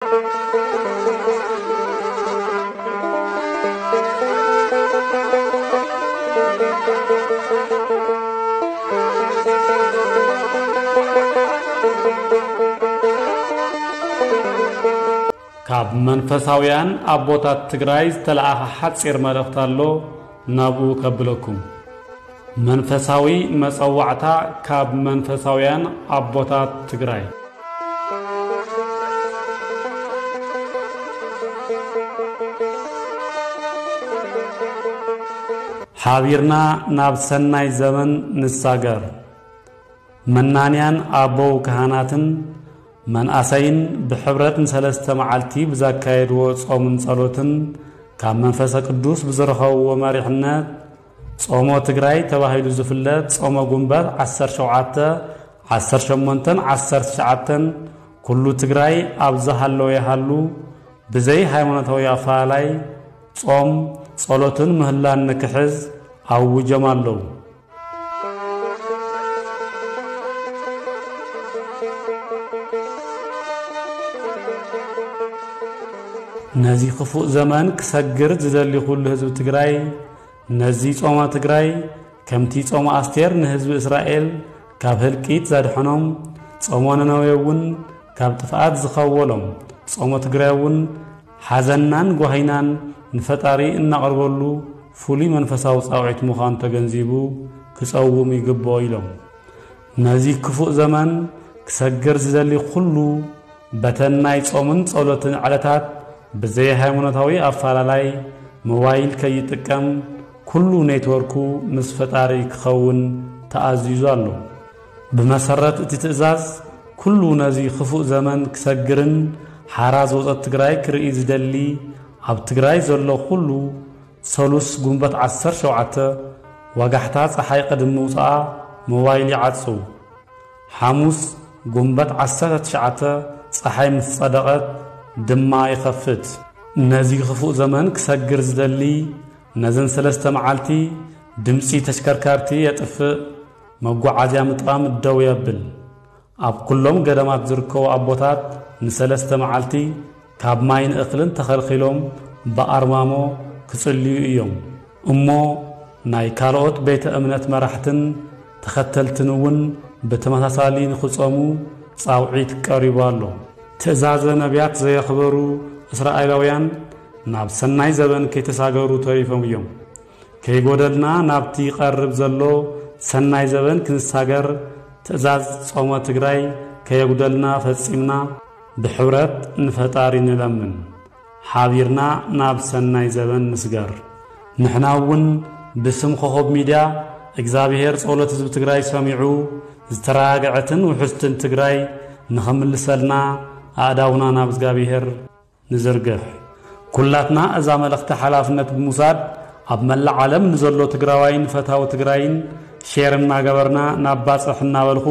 ካብ መንፈሳውያን ኣቦታት ትግራይ ዝተለኣኸ ሓጺር መልእኽቲ ኣሎ፣ ናብኡ ከብለኩም። መንፈሳዊ መጸዋዕታ ካብ መንፈሳውያን ኣቦታት ትግራይ። ሓቢርና ናብ ሰናይ ዘመን ንሳገር። መናንያን ኣበው ካህናትን መናእሰይን ብሕብረት ንሰለስተ መዓልቲ ብዘካየድዎ ጾምን ጸሎትን ካብ መንፈሰ ቅዱስ ብዝረኸብዎ መሪሕነት ጾሞ ትግራይ ተባሂሉ ዝፍለጥ ጾመ ጉንበት ዓሰርተ ሸውዓተ፣ ዓሰርተ ሸሞንተን ዓሰርተ ትሽዓተን ኩሉ ትግራይ ኣብ ዝሃለወ ይሃሉ ብዘይ ሃይማኖታዊ ኣፈላላይ ጾም፣ ጸሎትን ምህላን ንክሕዝ ኣውጆም ኣለዉ። ነዚ ክፉእ ዘመን ክሰግር ዝደሊ ኩሉ ህዝቢ ትግራይ፣ ነዚ ጾመ ትግራይ ከምቲ ጾመ ኣስቴር ንህዝቢ እስራኤል ካብ ህልቂት ዘድሐኖም፣ ጾመ ነነዌ እውን ካብ ጥፍኣት ዝኸወሎም፣ ጾመ ትግራይ እውን ሓዘንናን ጓሂናን ንፈጣሪ እናቕርበሉ ፍሉይ መንፈሳዊ ጻውዒት ምዃኑ ተገንዚቡ ክጸውም ይግብኦ ኢሎም። ነዚ ክፉእ ዘመን ክሰግር ዝደሊ ኩሉ በተን ናይ ጾምን ጸሎትን ዕለታት ብዘይ ሃይማኖታዊ ኣፈላላይ ሞባይል ከይጥቀም ኩሉ ኔትወርኩ ምስ ፈጣሪ ክኸውን ተኣዚዙ ኣሎ። ብመሰረት እቲ ትእዛዝ ኩሉ ነዚ ክፉእ ዘመን ክሰግርን ሓራ ዝወጸት ትግራይ ክርኢ ዝደሊ ኣብ ትግራይ ዘሎ ኩሉ ሰሉስ ጉንበት ዓሰርተ ሸውዓተ ወጋሕታ ጸሓይ ቅድሚ ምውጽኣ ሞባይል ይዓጹ። ሓሙስ ጉንበት ዓሰርተ ትሽዓተ ጸሓይ ምስ ጸደቐት ድማ ይኸፍት። ነዚ ክፉእ ዘመን ክሰግር ዝደሊ ነዘን ሰለስተ መዓልቲ ድምጺ ተሽከርካርቲ የጥፍእ፣ መጓዓዝያ ምጥቃም ደው የብል። ኣብ ኩሎም ገዳማት ዝርከቡ ኣቦታት ንሰለስተ መዓልቲ ካብ ማይን እኽልን ተኸልኺሎም ብኣርማሞ ክጽልዩ እዮም። እሞ ናይ ካልኦት ቤተ እምነት መራሕትን ተኸተልትን እውን ብተመሳሳሊ ንኽጾሙ ጻውዒት ቀሪቡ ኣሎ። ትእዛዘ ነቢያት ዘየኽበሩ እስራኤላውያን ናብ ሰናይ ዘበን ከይተሳገሩ ተሪፎም እዮም። ከይጎደልና ናብቲ ይቐርብ ዘሎ ሰናይ ዘበን ክንሳገር ትእዛዝ ጾመ ትግራይ ከየጉደልና ፈጺምና ብሕብረት ንፈጣሪ ንለምን። ሓቢርና ናብ ሰናይ ዘበን ንስገር። ንሕና እውን ብስም ኮኾብ ሚድያ እግዚኣብሔር ጸሎት ህዝቢ ትግራይ ሰሚዑ ዝተረጋግዐትን ውሕስትን ትግራይ ንኸምልሰልና ኣእዳውና ናብ እግዚኣብሔር ንዝርግሕ። ኩላትና እዛ መልእኽቲ ሓላፍነት ብምውሳድ ኣብ መላእ ዓለም ንዘሎ ትግራዋይን ፈታዊ ትግራይን ሼር እናገበርና ናብ ባጽሕ እናበልኹ